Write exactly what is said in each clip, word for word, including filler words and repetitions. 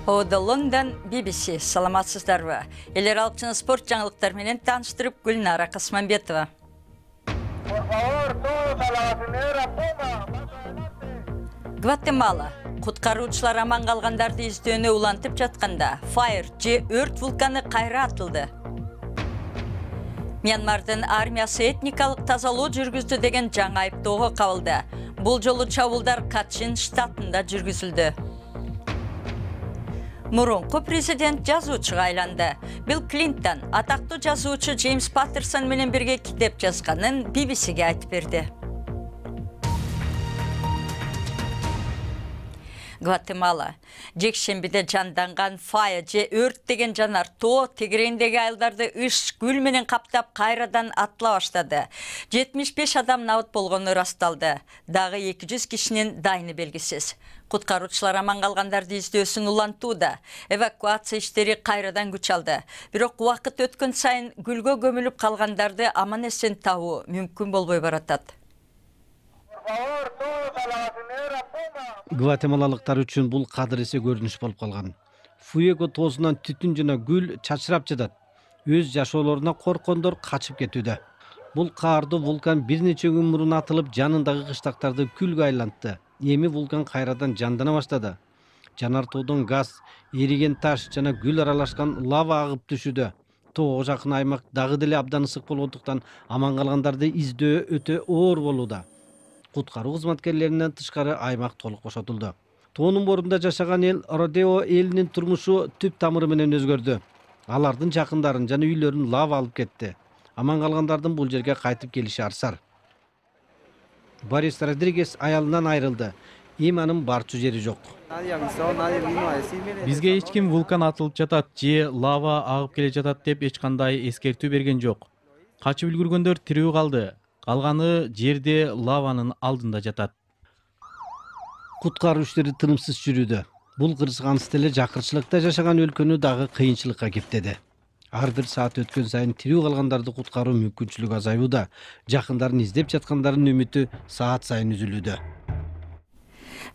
Ода Лондон би би си. Саламатсыздарбы. Элер алчыны спорт жаңылыктары менен тааныштырып Гүлнара Касманбетова. Гватемала. Куткаруучулар аман калгандарды издөөнү улантып жатканда Fire же өрт вулканы кайра атылды. Мьянмардын армиясы этникалык тазалоо жүргүздү деген жаңы айыптоого кабылды. Бул жолу чабуулдар Качин штатында жүргүзүлдү. Мурунку президент жазуучуга айланды. Билл Клинтон атактуу жазуучу Джеймс Паттерсон менен бирге китеп жазганын би би сиге айтып берди. Гватемала. Жекшембиде жанданган Fire же өрт деген жанар тоо тегерендеги айылдарды ыш гүл менен каптап кайрадан атыла баштады. жетимиш беш адам набыт болгону расталды. Дагы эки жүз кишинин дайыны белгисиз. Куткаруучулар аман калгандарды издөөсүн улантууда. Эвакуация иштери кайрадан күч алды. Бирок убакыт өткөн сайын гүлгө көмүлүп калгандарды аман эсен табуу мүмкүн болбой баратат. Гватемалалыктар үчүн бул кадыресе көрүнүш болуп калган. Фуэго тоосунан түтүн жана гүл чачырап жатат. Өз жашоолоруна корккондор качып кетүүдө. Бул каардуу вулкан бир нече күн мурун атылып, жанындагы кыштактарды күлгө айлантты. Эми вулкан кайрадан жандана баштады. Жанар тоодон газ, эриген таш жана гүл аралашкан лава агып түшүүдө. Тоого жакын аймак дагы деле абдан ысык болгондуктан аман калгандарды издөө өтө оор болууда. Куткаруу кызматкерлеринен тышкары аймак толук бошотулду. Тоонун борунда жашаган эл Родео элинин турмушу түп тамыры менен өзгөрдү. Алардын жакындарын жана үйлөрүн лава алып кетти. Аман калгандардын бул жерге кайтып келиши арсар. Борис Родригес аялынан айрылды. Эми анын барчу жери жок. Бизге эч ким вулкан атылып жатат же лава агып келе жатат деп эч кандай эскертүү берген жок. Качып үлгүргөндөр тирүү калды. Калганы жерде лаванын алдында жатат. Куткаруу иштери тынымсыз жүрүүдө. Бул кырсыгансыз эле жакырчылыкта жашаган өлкөнү дагы кыйынчылыкка кептеди. Ар бир саат өткөн сайын тирүү калгандарды куткаруу мүмкүнчүлүгү азаюуда. Жакындарын издеп жаткандардын үмүтү саат сайын үзүлүүдө.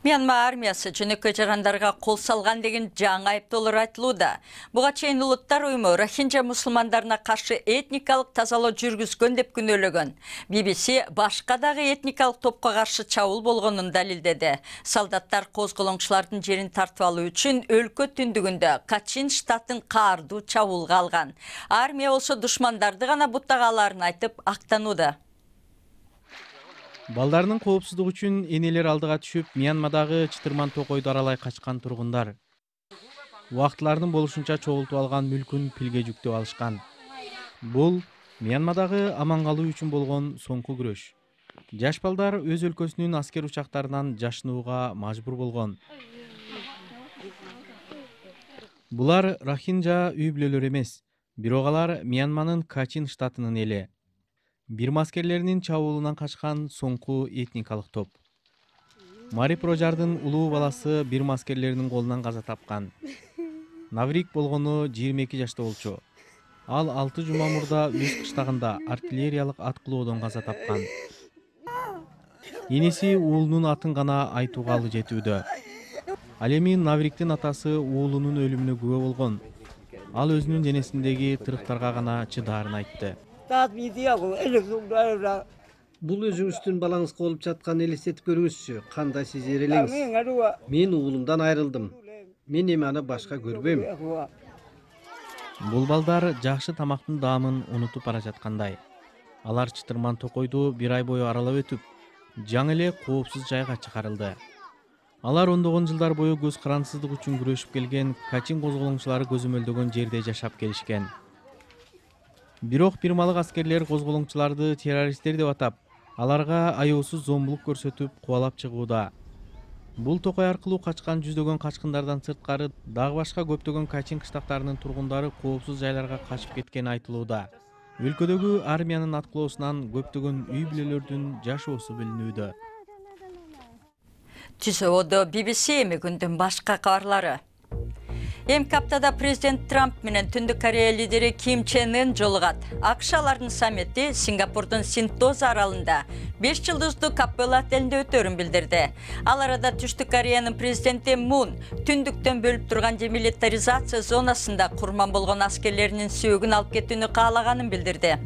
Мьянма армиясы жөнөкөй жарандарга кол салган деген жаңы айыптоолор айтылууда. Буга чейин улуттар уюму Рохинджа мусулмандарына каршы этникалык тазалоо жүргүзгөн деп күнөөлөгөн. би би си башка дагы этникалык топко каршы чабуул болгонун далилдеди. Солдаттар козголоңчулардын жерин тартып алуу үчүн өлкө түндүгүндө Качин штатын каардуу чабуулга алган. Армия болсо душмандарды гана буттагаларын айтып актанууда. Балдарынын коопсуздугу үчүн энелер алдыга түшүп, Мьянмадагы чытырман токойду аралай качкан тургундар. Убактылардын болушунча чогултуп алган мүлкүн пилге жүктөп алышкан. Бул Мьянмадагы аман калуу үчүн болгон соңку күрөш. Жаш балдар өз өлкөсүнүн аскер учактарынан жашынууга мажбур болгон. Булар Рохинджа үй бүлөлөр эмес, бирок алар Мьянманын Качин штатынын эли. Бирма аскерлеринин чабуулунан качкан соңку этникалык топ. Мари Прожардын улуу баласы Бирма аскерлеринин колунан каза тапкан. Наврик болгону жыйырма эки жашта болчу. Ал алты жума мурда өз кыштагында артиллериялык аткылоодон каза тапкан. Энеси уулунун атын гана айтууга алы жетүүдө. Ал эми Навриктин атасы уулунун өлүмүнө күбө болгон. Ал өзүнүн денесиндеги тырыктарга гана чыдаарын айтты. Бул өзүңүздүн балаңызга болуп жаткан элестетип көрүңүзчү, кандай сезер элеңиз? Мен уулумдан айрылдым. Мен эми аны башка көрбөйм. Бул балдар жакшы тамактын даамын унутуп бара жаткандай. Алар чытырман токойду бир ай бою аралап өтүп, жаңы эле коопсуз жайга чыгарылды. Алар ондогон жылдар бою көз карансыздык үчүн күрөшүп келген Качин козголоңчулары көзөмөлдөгөн жерде жашап келишкен. Бирок бирмалык аскерлер козголоңчуларды террористтер деп атап, аларга аяосуз зомбулук көрсөтүп кубалап чыгууда. Бул токой аркылуу качкан жүздөгөн качкындардан сырткары дагы башка көптөгөн Качин кыштактарынын тургундары коопсуз жайларга качып кеткени айтылууда. Өлкөдөгү армиянын аткылоосунан көптөгөн үй бүлөлөрдүн жашоосу билинүүдө. Түзөөдө би би си эми күндүн башка кабарлары. Эмки аптада президент Трамп менен Түндүк Корея лидери Ким Чен Ын жолугат. АКШ алардын саммити Сингапурдун Синтоз аралында беш жылдыздуу Капелла отелинде өтөрүн билдирди. Ал арада Түштүк Кореянын президенти Мун түндүктөн бөлүп турган демилитаризация зонасында курман болгон аскерлеринин сөөгүн алып кетүүнү каалаганын билдирди.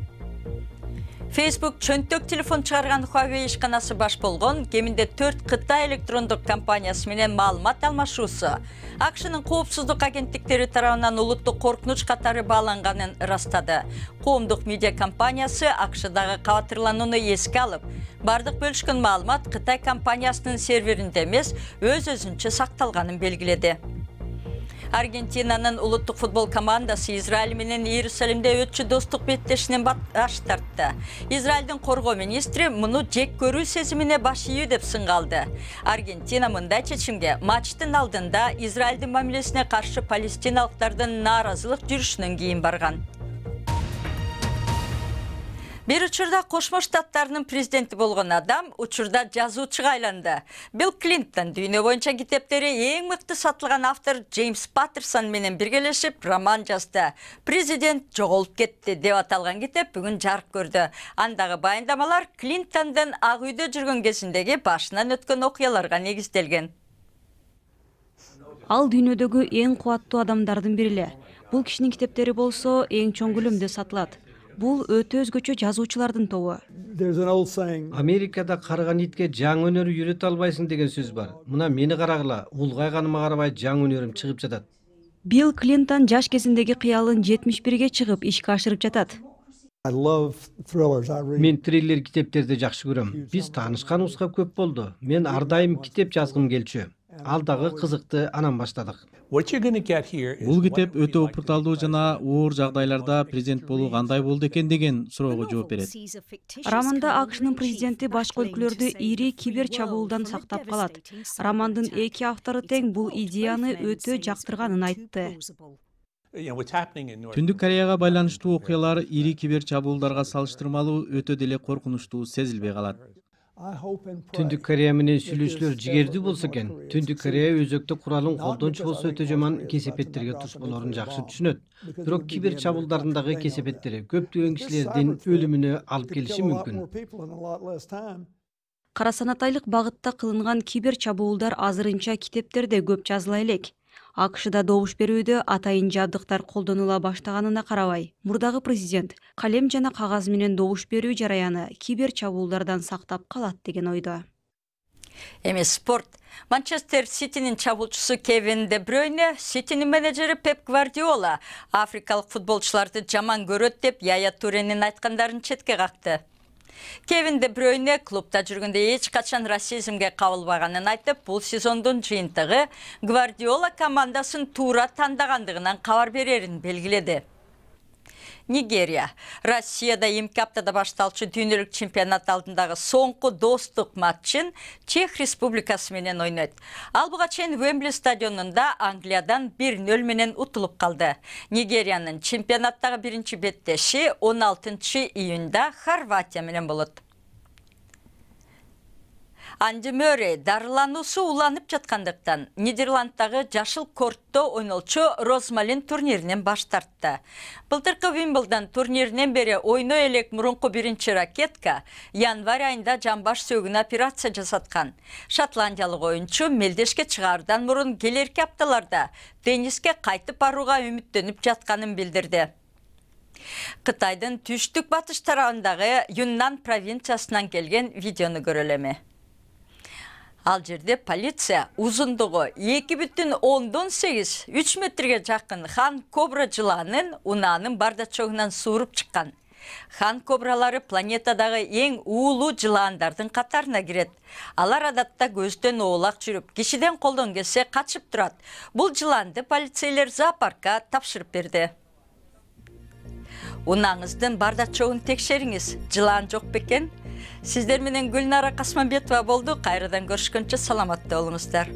Facebook чөнтөк телефон чыгарган Huawei ишканасы баш болгон кеминде төрт Кытай электрондук компаниясы менен маалымат алмашуусу АКШнын коопсуздук агенттиктери тарабынан улуттук коркунуч катары бааланганын ырастады. Коомдук медиа компаниясы АКШдагы кабатырланууну эске алып, бардык бөлүшкөн маалымат Кытай компаниясынын серверинде эмес, өз-өзүнчө сакталганын белгиледи. Аргентинанын улуттук футбол командасы Израиль менен Иерусалимде өтчү достук беттешинен баш тартты. Израилдин коргоо министри муну жек көрүү сезимине баш ийүү деп сынгалды. Аргентина мындай чечимге матчтын алдында Израилдин мамилесине каршы палестиналыктардын нааразылык жүрүшүнөн кийин барган. Бир учурда Кошмо Штаттарынын президенти болгон адам учурда жазуучуга айланды. Билл Клинтон дүйнө боюнча китептери эң мыкты сатылган автор Джеймс Паттерсон менен биргелешип роман жазды. Президент жоголуп кетти деп аталган китеп бүгүн жарык көрдү. Андагы баяндамалар Клинтондун Ак үйдө жүргөн кезиндеги башынан өткөн окуяларга негизделген. Ал дүйнөдөгү эң кубаттуу адамдардын бири эле. Бул кишинин китептери болсо эң чоң көлөмдө сатылат. Бул өтө өзгөчө жазуучулардын тобу. Америкада карыган итке жаңы өнөр үйрөтө албайсың деген сөз бар. Мына мени карагыла, улгайганыма карабай жаңы өнөрүм чыгып жатат. Билл Клинтон жаш кезиндеги кыялын жетимиш бирге чыгып ишке ашырып жатат. Мен триллер китептерди жакшы көрөм. Биз таанышканыбызга көп болду. Мен ар дайым китеп жазгым келчү. Ал дагы кызыкты, анан баштадык. Бул китеп өтө опурталдуу жана оор жагдайларда президент болуу кандай болду экен деген суроого жооп берет. Романда АКШнын президенти башка өлкөлөрдү ири кибер чабуулдан сактап калат. Романдын эки автору тең бул идеяны өтө жактырганын айтты. Түндүк Кореяга байланыштуу окуялар ири кибер чабуулдарга салыштырмалуу өтө деле коркунучтуу сезилбей калат. Түндүк Корея менен сүйлөшүүлөр жигердүү болсо экен. Түндүк Корея өзөктө куралын колдончу болсо өтө жаман кесепеттерге туш болорун жакшы түшүнөт. Бирок кибер чабуулдардагы кесепеттери көптөгөн кишилердин өлүмүнө алып келиши мүмкүн. Кара санатайлык багытта кылынган кибер чабуулдар азырынча китептерде көп жазыла элек. АКШда добуш берүүдө атайын жабдыктар колдонула баштаганына карабай, мурдагы президент калем жана кагаз менен добуш берүү жараяны кибер чабуулдардан сактап калат деген ойдо. Эми спорт. Манчестер Ситинин чабуулчусу Кевин Де Брюйне, Ситинин менеджери Пеп Гвардиола африкалык футболчуларды жаман көрөт деп Яя Туренин айткандарын четке какты. Кевин Де Брюйне клубда жүргөндө эч качан расизмге кабылбаганын айтып, бул сезондун жыйынтыгы Гвардиола командасын туура тандагандыгынан кабар берерин белгиледи. Нигерия. Россияда эмки аптада башталчу дүйнөлүк чемпионат алдындагы соңку достук матчын Чех Республикасы менен ойнойт. Ал буга чейин Уэмбли стадионунда Англиядан бир нөл менен утулуп калды. Нигериянын чемпионаттагы биринчи беттеши он алтынчы июнда Хорватия менен болот. Анди Мөррей дарылануусу уланып жаткандыктан Нидерланддагы жашыл кортто ойнолчу Розмалин турниринен баш тартты. Былтыркы Вимблдон турниринен бери ойной элек мурунку биринчи ракетка январь айында жамбаш сөөгүнө операция жасаткан. Шотландиялык оюнчу мелдешке чыгаардан мурун келерки апталарда тенниске кайтып барууга үмүттөнүп жатканын билдирди. Кытайдын түштүк батыш тарабындагы Юннан провинциясынан келген видеону көрөлөмү. Ал жерде полиция узундугу эки бүтүн ондон сегиз үч метрге жакын хан кобра жыланын унаанын бардачогунан сууруп чыккан. Хан кобралары планетадагы эң уулуу жылаандардын катарына кирет. Алар адатта көздөн оолак жүрүп, кишиден колдон келсе качып турат. Бул жылаанды полицейлер зоопаркка тапшырып берди. Унаңыздын бардачогун текшериңиз. Жылаан жок бекен? Сиздер менен Гүлнара Касманбетова болду. Кайрадан көрүшкөнчө саламатта болуңуздар.